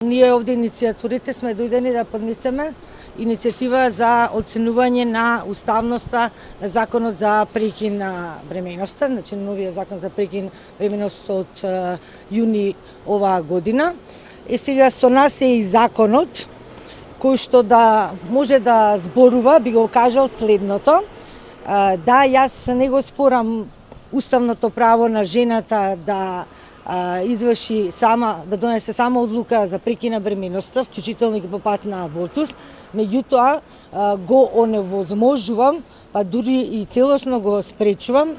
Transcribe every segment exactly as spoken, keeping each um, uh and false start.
Ние овде иницијаторите сме дојдени да поднесеме иницијатива за оценување на уставноста на законот за прекин на бременоста, значи новиот закон за прекин бременост од јуни оваа година. Е сега со нас е и законот кој што да може да зборува, би го кажал следното. Да, јас не го спорам уставното право на жената да изврши сама, да донесе сама одлука за прекин на бременоста, вклучително и по пат на абортус, меѓутоа го оневозможувам, па дури и целосно го спречувам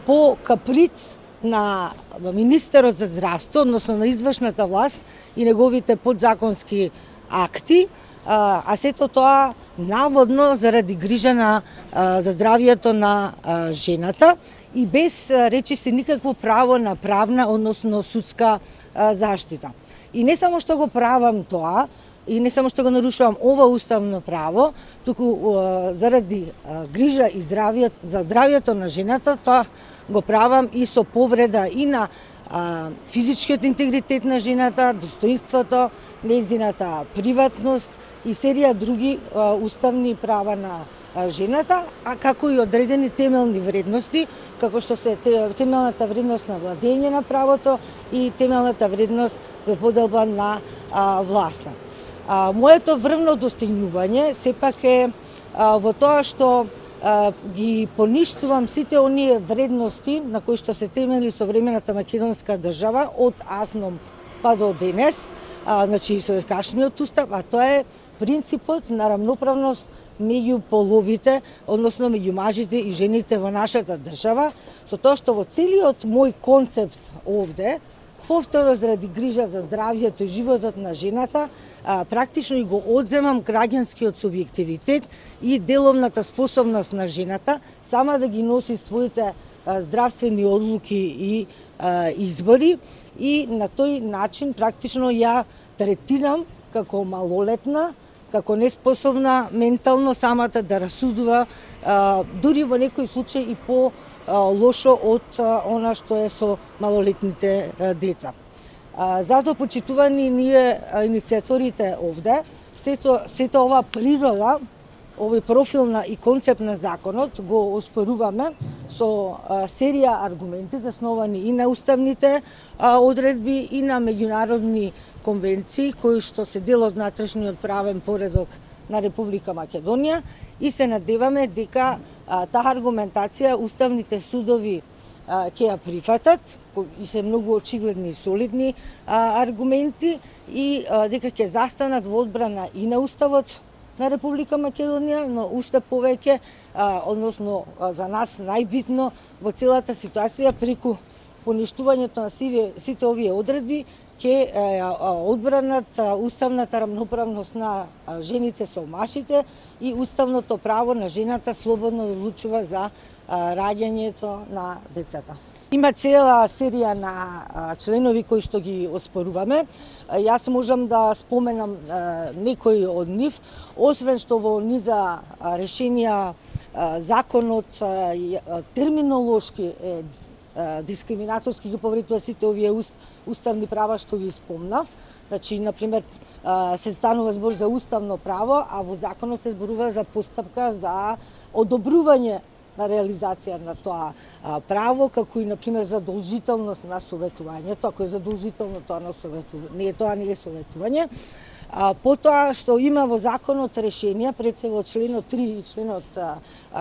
по каприц на министерот за здравство, односно на извршната власт и неговите подзаконски акти, а сето тоа наводно заради грижа на, за здравието на жената и без, речи се, никакво право на правна, односно судска заштита. И не само што го правам тоа, и не само што го нарушувам ова уставно право, туку заради грижа и здравие, за здравието на жената, тоа го правам и со повреда и на а, физичкиот интегритет на жената, достоинството, нејзината приватност и серија други а, уставни права на а, жената, а како и одредени темелни вредности, како што се темелната вредност на владење на правото и темелната вредност во поделба на а, власта. А, моето врвно достигнување сепак е а, во тоа што а, ги поништувам сите оние вредности на кои што се темели современата македонска држава од азном па до денес, а, значи со кашниот устав, а тоа е принципот на рамноправност меѓу половите, односно меѓу мажите и жените во нашата држава, со тоа што во целиот мој концепт овде, повторно заради грижа за здравјето и животот на жената, а, практично и го одземам граѓанскиот субјективитет и деловната способност на жената сама да ги носи своите а, здравствени одлуки и а, избори и на тој начин практично ја третирам како малолетна, како неспособна ментално самата да расудува, а, дури во некој случај и по лошо од она што е со малолетните деца. Затоа, почитувани ние иницијаторите овде, сето, сето ова природа, овој профил на и концепт на законот го оспоруваме со серија аргументи засновани и на уставните одредби и на меѓународни конвенции кои што се дел од внатрешниот правен поредок на Република Македонија и се надеваме дека а, таа аргументација уставните судови а, ќе ја прифатат и се многу очигледни и солидни а, аргументи и а, дека ќе застанат во одбрана и на уставот на Република Македонија, но уште повеќе, а, односно а, за нас најбитно во целата ситуација преку поништувањето на сиве, сите овие одредби ќе одбранат уставната рамноправност на жените со мажите и уставното право на жената слободно да одлучува за раѓањето на децата. Има цела серија на членови кои што ги оспоруваме. Јас можам да споменам некои од нив, освен што во низа решенија законот терминолошки е дискриминаторски ги повредува сите овие уставни права што ги спомнав. Значи, например, се станува збор за уставно право, а во законот се зборува за постапка за одобрување на реализација на тоа право, како и, например, задолжителност на советувањето. Ако е задолжително тоа на советување, не е тоа не е советување. А, потоа што има во законот решенија, пред се во членот три и членот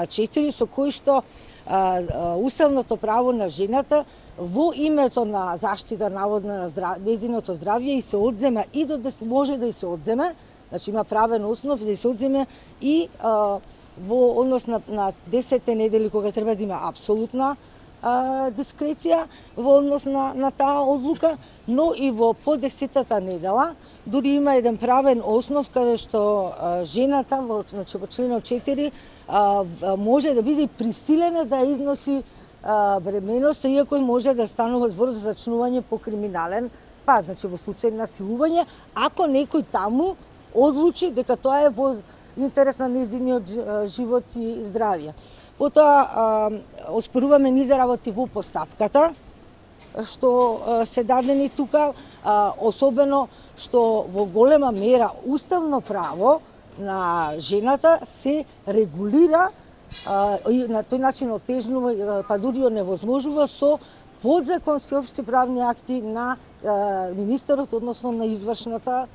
четири, со кои што а, а, уставното право на жената во името на заштита наводна на здрав... незиното здравје и се одзема и до да може да и се одземе, значи има правен основ да и се одземе и а, во однос на, на десетте недели кога треба да има апсолутна а, дискреција во однос на, на таа одлука, но и во по десетата недела дури има еден правен основ каде што а, жената во, значи, во членот четири а, може да биде присилена да износи а, бременоста, иако може да станува збор за зачнување по криминален пат, значи во случај на силување, ако некој таму одлучи дека тоа е во интерес на незиниот живот и здравје. Потоа оспоруваме низа работи во постапката, што се дадени тука, особено што во голема мера уставно право на жената се регулира и на тој начин отежнува, па дури оневозможува со подзаконски општи правни акти на министерот, односно на извршната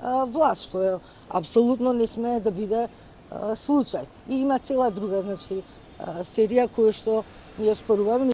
власт, што е апсолутно не смее да биде случај. И има цела друга, значи, серија која што ние споруваме.